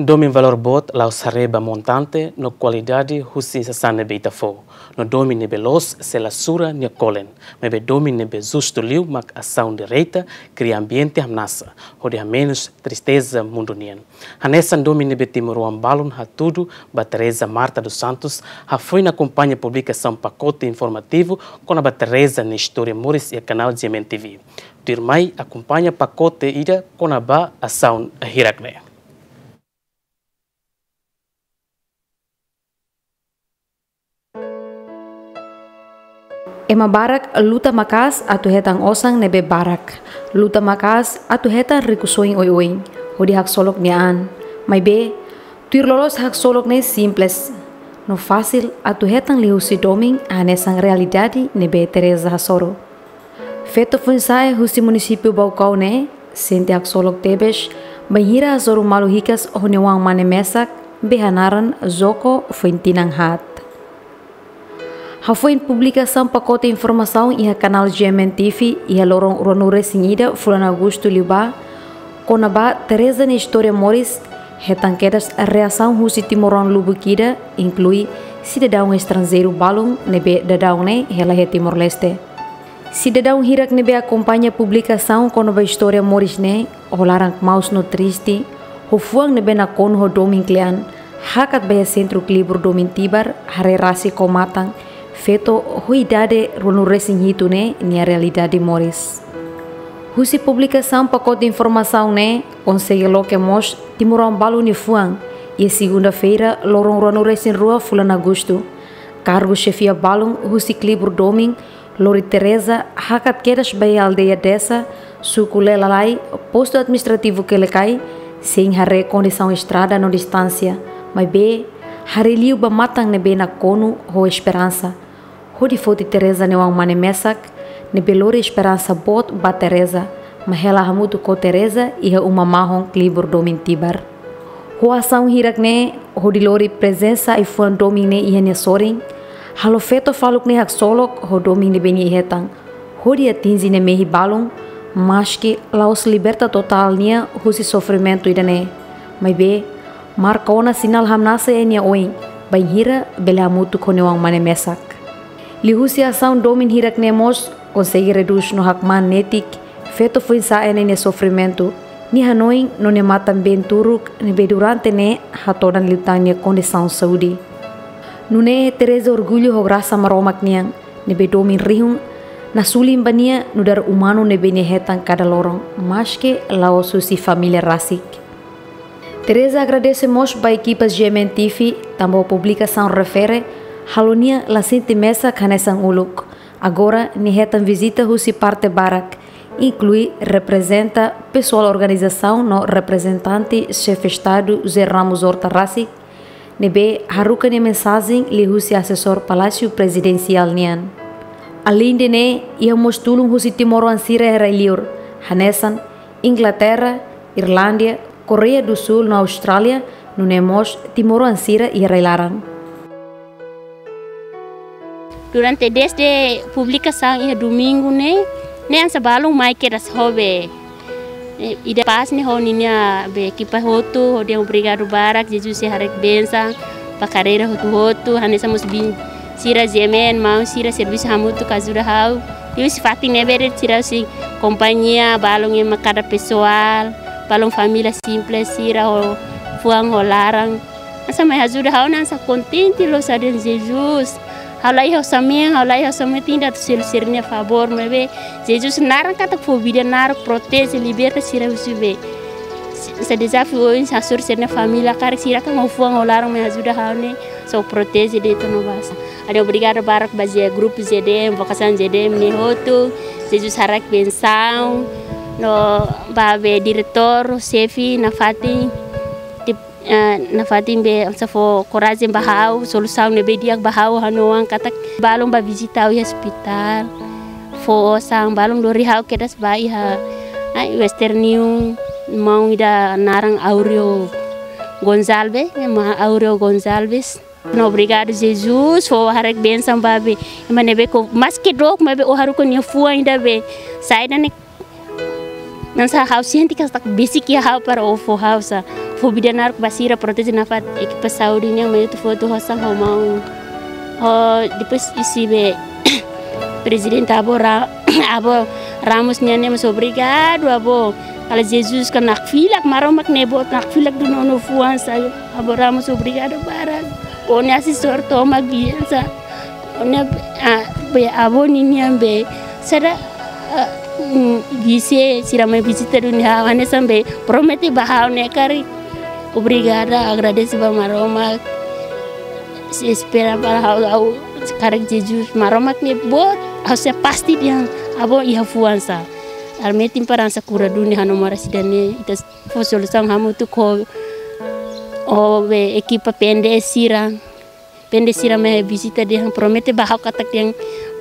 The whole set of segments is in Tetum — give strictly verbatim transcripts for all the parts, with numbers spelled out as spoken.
Domin valór boot la'ós haree ba montante no kualidade husi sasán ne'ebé ita fó. No domin ne'ebé loos sei la sura nia kolen. Maibé domin ne'ebé justu liu mak asaun direta, kria ambiente hamnasa, hodi hamenus tristeza mundu nian. Hanesan domin ne'ebé timoroan balun hatudu ba Teresa Marta dos Santos, hafoin akompaña publikasaun pakote informativu kona-ba Teresa nia istória moris iha kanál G M N T V. Tuirmai akompaña pakote ida kona-ba asaun hirak-ne'e. Ema barak luta maka'as atu hetan osan ne'ebé barak. Luta maka'as atu hetan rikusoin oioin hodi haksolok nia an. Maibé, tuir loloos haksolok ne'e simples no fasil atu hetan liuhusi domin hanesan realidade ne'ebé Teresa hasoru. Feto foin-sa'e husi munisípiu Baucau ne'e sente haksolok tebes bainhira hasoru malu hikas ho nia oan-mane mesak be hanaran Joko foin tinan haat. Hafoin publikasaun pakote informasaun iha kanál G M N T V iha loron ruanulu-resin-ida fulan Agostu liubá, kona-ba Teresa nia istória moris, hetan kedas reasaun husi timoroan lubuk ida, inklui sidadaun estranjeiru balun ne'ebé daudaun ne'e hela iha Timor-Leste. Sidadaun hirak ne'ebé akompaña publikasaun kona-ba istória moris ne'e, ho laran kmaus no triste, ho fuan ne'ebé nakonu ho domin kle'an, hakat ba iha Sentru Klibur Domin Tibar, haree rasik ho matan, feto ho idade ruanulu-resin-hitu ne'e nia realidade moris. Husi publikasaun pakote informasaun ne'e, konsege loke mós timoroan balun nia fuan, iha segunda-feira, loron ruanulu-resin-rua fulan Agostu. Kargu xefia balun husi Klibur Domin, lori Teresa hakat kedas ba iha aldeia Desa, suku Lelalai, postu administrativu Quelicai, sein haree kondisaun estrada no distánsia. Maibé, haree liu ba matan ne'ebé nakonu ho esperansa. Hodi foti Teresa nia oan-mane mesak, ne'ebé lori esperansa boot ba Teresa, mak hela hamutuk ho Teresa iha uma mahon Klibur Domin Tibar. Ho asaun hirak-ne'e, hodi lori prezensa ai-fuan domin ne'e iha nia sorin, halo feto faluk ne'e haksolok ho domin ne'ebé nia hetan, hodi atinje nia mehi balun, maski la'ós liberta totál nia husi sofrimentu ida-ne'e. Maibé, marka ona sinál hamnasa iha nia oin, bainhira bele hamutuk ho nia oan-mane mesak. Liuhusi asaun domin hirak-ne'e mós konsege redús no hakmaan netik feto foin-sa'e ne'e nia sofrimentu, nia hanoin no nia matan-been turuk ne'ebé durante ne'e hatodan liután nia kondisaun saúde. Nune'e Teresa orgullu ho grasa Maromak nian, ne'ebé domin rihun nasulin ba nia nu'udar umanu ne'ebé nia hetan kada loron, maski la'ós husi família rasik. Teresa agradese mós ba ekipa G M N T V, tanba publikasaun refere, halo nia la sente mesak hanesan uluk. Agora, nia hetan vizita husi parte barak, inklui reprezenta pesoál organizasaun no reprezentante Xefe Estadu José Ramos Horta rasik, ne'ebé haruka nia mensajen liuhusi asesór Palásiu Prezidensiál nian. Aleinde ne'e, iha mós tulun husi timoroan sira iha rai-liur, hanesan Inglaterra, Irlándia, Koreia do Sul no Austrália, nune'e mós timoroan sira iha rai-laran. Durante dezde publikasaun iha domingu ne'e, ne'e hanesan balun mai kedas ho be. Eh, ida pás ne'e ho ninia be ekipa hotu, hodi obrigadu barak, Jesus sei haraik bensaun ba karreira hotu-hotu, hanesan mós biin sira G M N, maun sira servisu hamutuk ajuda ha'u. Liuhusi fatin ne'ebé de'it sira husi kompañia, balun ema kada pesoál, balun família simples sira ho fuan ho laran. Hanesan mai ajuda ha'u ne'e hanesan kontente loos hadi'a Jesus. Ha'u la iha osan mean, ha'u la iha osan mean atu selu sira-nia favór, maibé Jesus naran katak fó vida naruk, proteje, liberta sira husi be. Hanesan dezafiu oioin hasoru sira-nia família, karik sira kan ho fuan ho laran mai ajuda ha'u ne'e, sei proteje de'it no basa. Ha'u obrigadu barak ba G-, grupu G D M, vokasaun G D M ne'e hotu. Jesus haraik bensaun. No ba be diretór, xefe, nafatin, tip-, eh, nafatin be hanesan fó korajen ba ha'u, solusaun ne'ebé di'ak ba ha'u, ha'u-nia oan katak balun bá vizita ha'u iha ospitál. Fó osan, balun lori ha'u kedas bá iha, ai, Western Union, maun ida naran Aureo Gonçalves, maun Aureo Gonçalves. No obrigadu Jesus, fó haraik bensaun ba be. Ema ne'ebé ko, maski dook, maibé ó haruka nia fuan ida be. Saida ne'e, hanesan ha'u sente katak besik iha ha'u para ó fó ha'u sa. Fó vida naruk ba sira, proteje nafatin ekipa saúde nian, mai atu fó atu hosan ho maun. Ho depois husi be Prezidente Avó Ra-, Avó Ramos nian ne'e mós obrigadu, avó. Kala Jesus ka nakfilak, Maromak ne'e boot nakfilak duni ó-nia fuan sa. Avó Ramos obrigadu barak. Ó-nia asesór tomak biasa. Ó-nia, ah, be avó ninian be. Sira, ah, mm, vise, sira mai vizita duni ha'u, hanesan be promete ba ha'u ne'e karik. Obrigada, agradese ba Maromak. Se espera ba ha'u, ha'u karik Jesus, Maromak ne'e boot, ha'u sei pasti dehan avó iha fuan sa. Arme tim paransa kura duni ha'u-nia moras ida-ne'e, ita fó solusaun hamutuk ho, ho be ekipa P N D S sira. P N D S sira mai vizita dehan promete ba ha'u katak dehan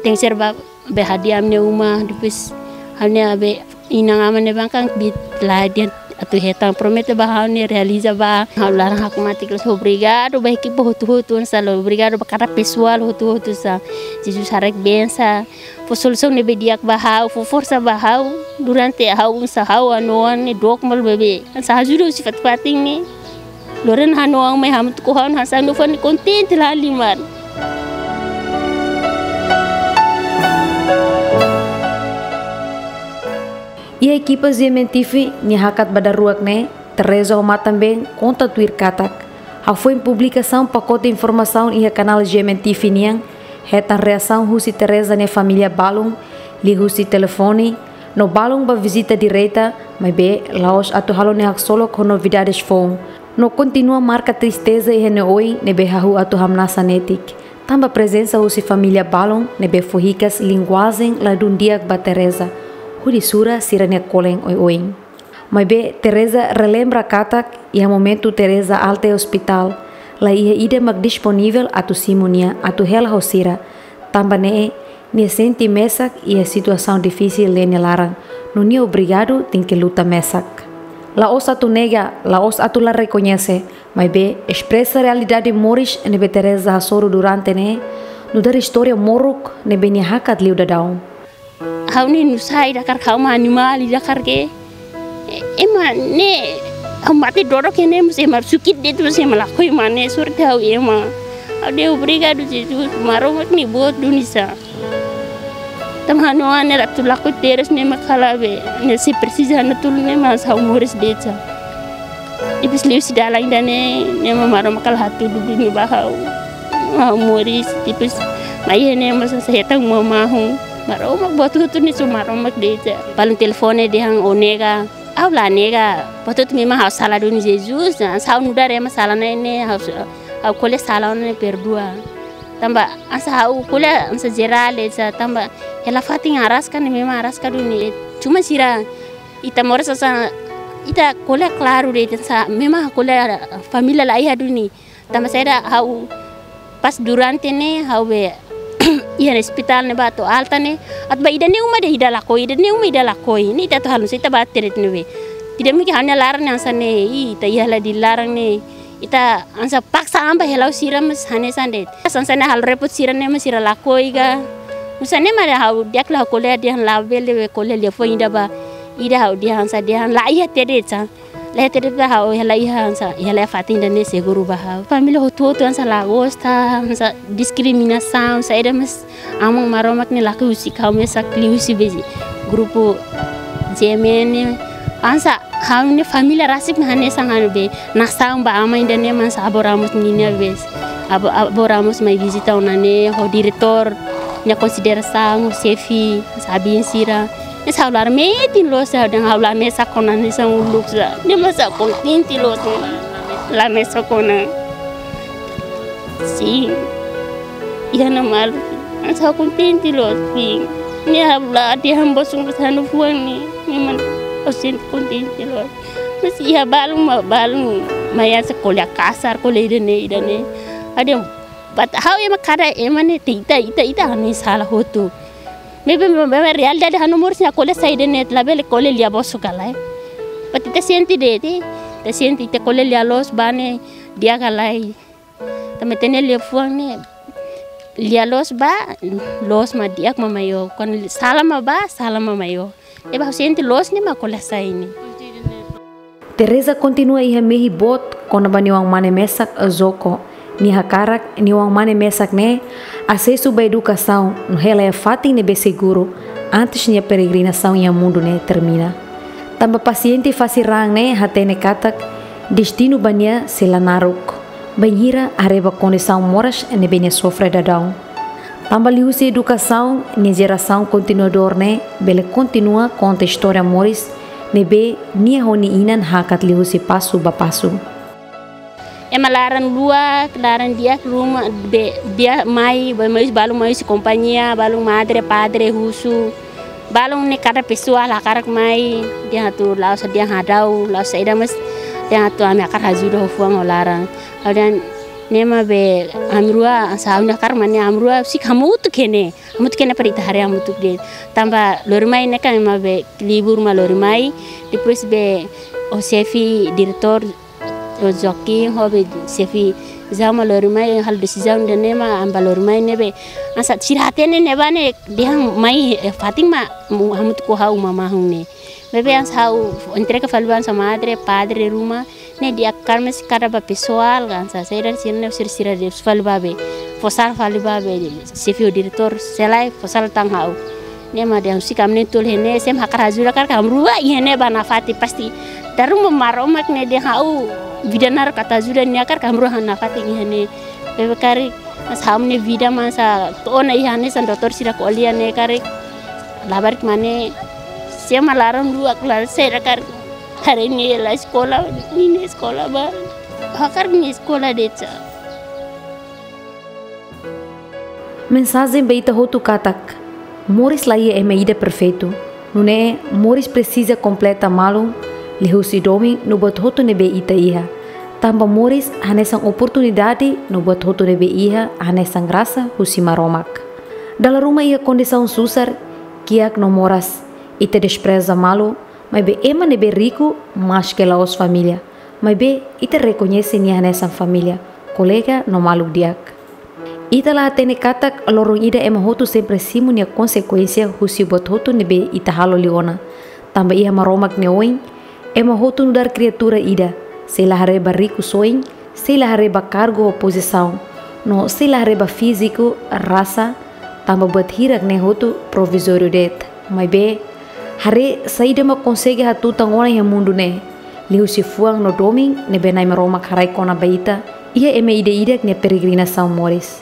tenke ser ba be hadi'a ami-nia uma, depois ha'u-nia be inan-aman ne'ebá kan bi la dehan atu hetan, promete ba ha'u ne'e realiza ba. Ha'u laran hakmatek loos, obrigadu ba ekipa hotu-hotu hanesan, obrigadu ba kada pesoál hotu-hotu sa. Jesus haraik bensa. Fó solusaun ne'ebé di'ak ba ha'u, fó forsa ba ha'u durante ha'u hanesan ha'u hanoin ne'e dook malu bebé. Hanesan ajuda husi fatin-fatin ne'e. Lorena hanoin mai hamutuk ho ha'u hanesan ha'u-nia fuan ne'e kontente lahalimar. Iha ekipa G M N T V nia hakat ba daruak ne'e, Teresa ho matan-been konta tuir katak, hafoin publikasaun pakote informasaun iha kanál G M N T V nian, hetan reasaun husi Teresa nia família balun, liuhusi telefone, no balun ba vizita direta, maibé la'ós atu halo nia haksolok ho novidades foun. No kontinua marka tristeza iha nia oin ne'ebé hahú atu hamnasa netik. Tanba prezensa husi família balun ne'ebé fó hikas linguajen ladún di'ak ba Teresa, hodi sura sira-nia kolen oioin. Maibé Teresa relembra katak, iha momentu Teresa alta iha ospitál, la iha ida mak disponivel atu simu nia atu hela ho sira. Tanba ne'e, nia sente mesak iha situasaun difisil iha nia laran, no nia obrigadu tenke luta mesak. La'ós atu nega, la'ós atu la rekoñese, maibé espresa realidade moris ne'ebé Teresa hasoru durante ne'e, nu'udar istória moruk ne'ebé nia hakat liu daudaun. Ha'u ne'e nusá ida karik, ha'u mak animál ida karik. E-, ema ne'e, ha'u mate dodok ne'e mós ema sukit de'it mós ema lakohi mane, sorte ha'u ema. Ha'u dehan obrigadu Jesus, Maromak ne'e boot duni sa. Tanba ha'u-nia oan ne'e atu lakohi terus ne'e mak kala be, ne'e sei presiza ha'u-nia tulun ne'e mak ha'u moris de'it sa. Depois liuhusi dalan ida-ne'e, ne'e mak Maromak kala hatudu duni ba ha'u. Ha'u moris, depois mai iha ne'e mak hanesan hetan uma mahon. Maromak buat hotu-hotu ne'e só Maromak de'it sa. Balun telefone dehan ó nega, ha'u la nega. Buat hotu memang ha'u sala duni Jesus, hanesan ha'u nu'udar ema sala ne'e, ne'e ha'u, ha'u ko'alia sala ne'e perdua. Tanba hanesan ha'u ko'alia hanesan jerál de'it sa, tanba hela fatin araska ne'e memang araska duni. Cuma sira ita moras hanesan, ita ko'alia klaru de'it sa, memang ko'alia família la iha duni. Tanba saida ha'u pas durante ne'e ha'u be iha ospitál ne'ebá to'o alta ne'e, atu ba ida-ne'e uma de'it ida lakohi, ida-ne'e uma ida lakohi. Ne'e ita atu halo nu'usá ita ba tret ne'ebé. Tidak mungkin ha'u-nia laran hanesan ne'e, ih, ita iha hela di laran ne'e. Ita hanesan paksa an ba hela ho sira mós hanesan de'it. Hanesan ne'e halo repot sira ne'e mós sira lakohi ka. Nu'usá ne'e mak ha'u di'ak liu ha'u ko'alia dehan labele be ko'alia liafuan ida ba. Ida ha'u dehan hanesan dehan la iha tret sa. La iha tret ba ha'u hela iha hanesan, hela iha fatin ida-ne'e seguru ba ha'u. Família hotu-hotu hanesan la gosta, hanesan diskriminasaun, saida mós Aman Maromak ne'e lakohi husik ha'u mesak liuhusi be grupu G M N ne'e. Hanesan ha'u-nia família rasik mak hanesan ha'u be. Nasaun ba aman ida-ne'e mak hanesan Avó Ramos ninia be. Avó, Avó Ramos mai vizita ona ne'e ho diretór nia konsiderasaun, ho xefe, hanesan abin sira. Hanesan ha'u laran metin loos sa, dehan ha'u la mesak ona hanesan uluk sa. Ne'e mak hanesan kontente loos. La mesak ona. Sin. Iha ne'e malu. Hanesan ha'u kontente loos, sin. Ne'e ha'u la dehan bosok hanesan ha'u-nia fuan ne'e. Ne'e mak ha'u sente kontente loos. Mas iha balun mak balun. Mai hanesan ko'alia kasar, ko'alia ida-ne'e, ida-ne'e. Ha'u dehan, but ha'u ema kada ema ne'e, ita, ita, ita, ita ha'u-nia sala hotu. Maibé, maibé, maibé realidade ha'u-nia moris ne'e ko'alia saida ne'e, labele ko'alia lia bosok ka lae. But ita sente de'it, ita sente ita ko'alia lia loos ba ne'e, di'ak ka lae. Tanba ita-nia liafuan ne'e, lia loos ba, loos mak di'ak mak maior. Kuandu sala mak ba, sala mak maior. Ne'ebé ha'u sente loos ne'e mak ko'alia sai ne'e. Teresa kontinua iha mehi boot kona-ba nia oan-mane mesak Joko. Nia hakarak nia oan-mane mesak ne'e asesu ba edukasaun no hela iha fatin ne'ebé seguru antes nia peregrinasaun iha mundu ne'e termina. Tanba pasiente fase raan ne'e hatene katak destinu ba nia sei la naruk, bainhira haree ba kondisaun moras ne'ebé nia sofre daudaun. Tanba liuhusi edukasaun, nia jerasaun kontinuadór ne'e bele kontinua konta istória moris ne'ebé nia ho nia inan hakat liuhusi pasu ba pasu. Ema laran luak, laran di'ak, ruma be, di'ak mai, be mai balun mai husi kompañia, balun madre, padre, husu. Balun ne'e kada pesoál hakarak mai, dehan atu la'ós dehan hadau, la'ós saida, mas dehan atu ami hakarak ajuda ho fuan ho laran. Ha'u dehan ne'e mak be ami rua, hanesan ami hakarak mak ne'e ami rua husik hamutuk iha ne'e. Hamutuk iha ne'e para ita haree hamutuk de'it. Tanba lori mai ne'e kan ema be libur mak lori mai. Depois be o xefe diretór, o Joaquim, ho be xefe Zau mak lori mai, halo desizaun ida-ne'e mak ami bá lori mai ne'ebé. Hanesan sira hatene ne'ebá ne'e dehan mai, eh, fatin mak mu-, hamutuk ho ha'u uma mahun ne'e. Maibé hanesan ha'u entrega fali ba hanesan madre, padre ruma, ne'e di'ak hakarak, mas kada ba pesoál, hanesan sira, sira ne'e sira, sira dehan fali ba be, fó sala fali ba be, xefe ho diretór, se lae, fó sala tan ha'u. Ne'e mak dehan husik ami na'in-tolu iha ne'e, se ema hakarak ajuda karik ami rua iha ne'e ba nafatin pasti. Dala ruma Maromak ne'e dehan ha'u vida naruk atu ajuda nia karik ami rua iha nafatin iha ne'e. Maibé karik hanesan ha'u-nia vida mak hanesan to'o ona iha ne'e hanesan doutór sira ko'alia ne'e karik. Labarik mak ne'e, se ema laran luak, laran sira karik. Haree nia la eskola, nia eskola ba. Hakarak nia eskola de'it sá. Mensajen ba ita hotu katak moris la iha ema ida perfeitu. Nune'e moris presiza kompleta malu, liuhusi domin no buat hotu ne'ebé ita iha. Tanba moris hanesan oportunidade no buat hotu ne'ebé iha hanesan grasa husi Maromak. Dala ruma iha kondisaun susar, kiak no moras, ita despreza malu, maibé ema ne'ebé riku maske la'ós família, maibé ita rekoñese nia hanesan família, kolega no maluk di'ak. Ita la hatene katak loron ida ema hotu sempre simu nia konsekuénsia husi buat hotu ne'ebé ita halo liu ona. Tanba iha Maromak nia oin, ema hotu nu'udar kriatura ida, sei la haree ba riku soin, sei la haree ba kargu ou pozisaun, no sei la haree ba fíziku, rasa, tanba buat hirak ne'e hotu provizóriu de'it. Maibé, haree saida mak konsege hatutan ona iha mundu ne'e, liuhusi fuan no domin ne'ebé Na'i Maromak haraik kona-ba ita iha ema ida-idak nia peregrinasaun moris.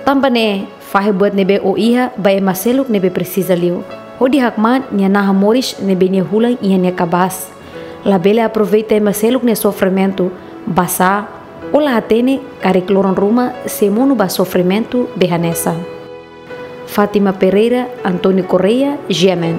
Tanba ne'e, fahe buat ne'ebé ó iha ba ema seluk ne'ebé presiza liu, hodi hakmaan nia naha moris ne'ebé nia hulan iha nia kabaas. Labele aproveita ema seluk nia sofrimentu, basá ó la hatene karik loron ruma sei monu ba sofrimentu be hanesan. Fátima Pereira, António Correia, G M N.